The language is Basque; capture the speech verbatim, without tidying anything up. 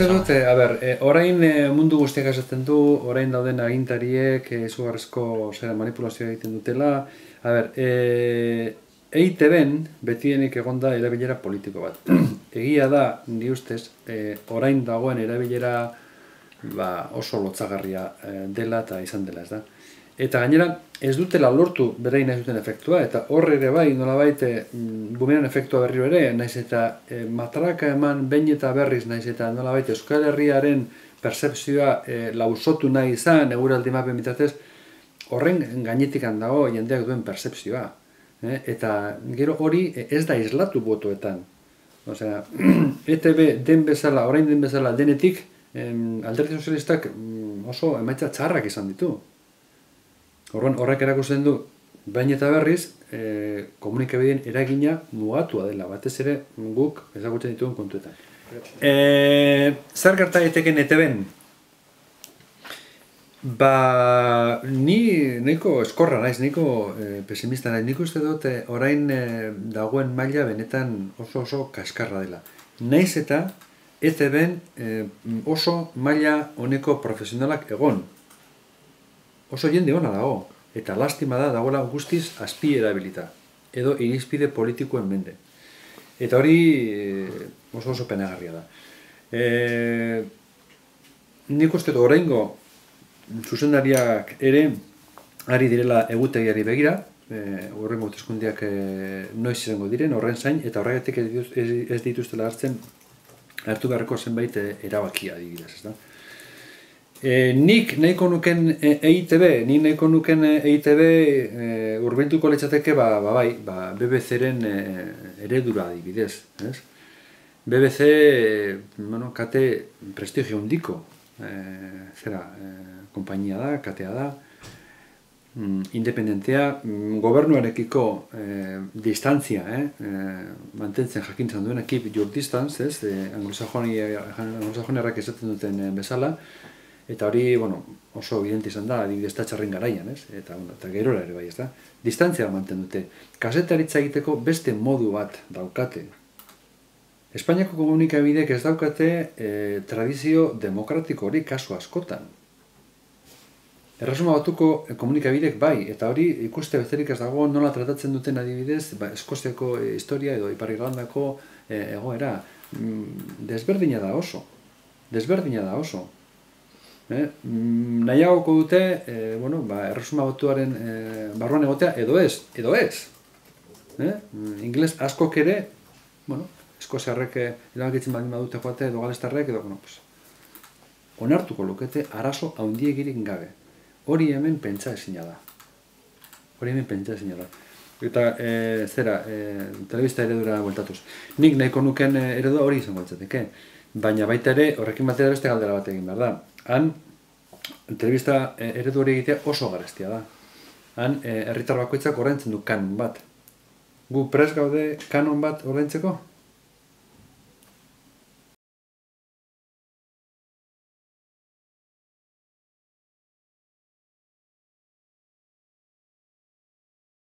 uste dut, a ber, orain mundu guztiak esaten du, orain dauden agintariek izugarrizko zera manipulazioa egiten dutela. A ber, E I Te Ben betienik egonda erabilera politiko bat. Egia da, ni ustez, orain dagoen erabilera oso lotzagarria dela eta izan dela, ez da. Eta gainera, ez dutela lortu berein nahi duten efektua, eta horre ere bai, nolabait, bumeran efektua berriro ere, naiz eta matraka eman behin eta berriz, naiz eta nolabait Euskal Herriaren percepzioa lausotu nahi izan, eguraldi mapen bitatez, horren gainetik handago jendeak duen percepzioa. Eta gero hori ez da islatu botoetan. Osea, E Te Be den bezala, orain den bezala denetik, Alderdi Sozialistak oso emaitza txarrak izan ditu. Horrek erakusten du, bain eta berriz, komunikabideen eragina mugatua dela, batez ere guk ezagutzen dituen kontuetan. Zer gerta daiteken E Te Ben? Ba, ni nahiko eskorra naiz, nahiko pesimista naiz. Nik uste dut orain dagoen maila benetan oso oso kaskarra dela. Naiz eta E Te Ben oso maila honeko profesionalak egon. Oso jende ona dago, eta lastima da dagoela guztiz azpi erabilita, edo irizpide politikoen mende. Eta hori oso oso penagarria da. Nik uste dut oraingo zuzendariak ere ari direla egutegiari begira, horrengo hauteskundeak noiz izango diren, horren zain, eta horregatik ez dituztela hartzen hartu beharreko zenbait erabakia adibidez, ez da. Nik nahiko nuken E I Te Be, nik nahiko nuken E I Te Be hurbilduko litzateke bai, B B C-ren eredura adibidez. B B C, kate prestigio handiko, zera, konpainia da, katea da, independentea, gobernuarekiko distantzia, mantentzen jakintzen duen, keep your distance, anglosajonerrak esaten duten bezala, eta hori oso evidente izan da, adibidez txarren garaian, eta gerora ere bai, ez da. Distantzia manten dute. Kazetaritza egiteko beste modu bat daukate. Espainiako komunikabideek ez daukate tradizio demokratiko hori kasu askotan. Erresuma Batuko komunikabideek bai, eta hori ikuste besterik ez dago nola tratatzen duten adibidez, Eskoziako historia edo Ipar Irlandako egoera. Desberdina da oso. Desberdina da oso. Nahiagoko dute, Erresuma Batuaren barruan egotea, edo ez, edo ez. Ingeles askok ere, eskoziarrek erabakitzen baldin badute joate, edo galestarrek, edo, onartuko lukete arazo handiegirik gabe. Hori hemen pentsa ezina da. Hori hemen pentsa ezina da. Eta, zera, telebista eredura bueltatuz. Nik nahiko nuken eredua hori izango litzateke. Baina baita ere, horrekin batera beste galdera bat egin behar da. Han, telebista eredu hori egitea oso garestia da. Han, herritar bakoitzak ordaintzen du kanon bat. Gu prest gaude kanon bat ordaintzeko?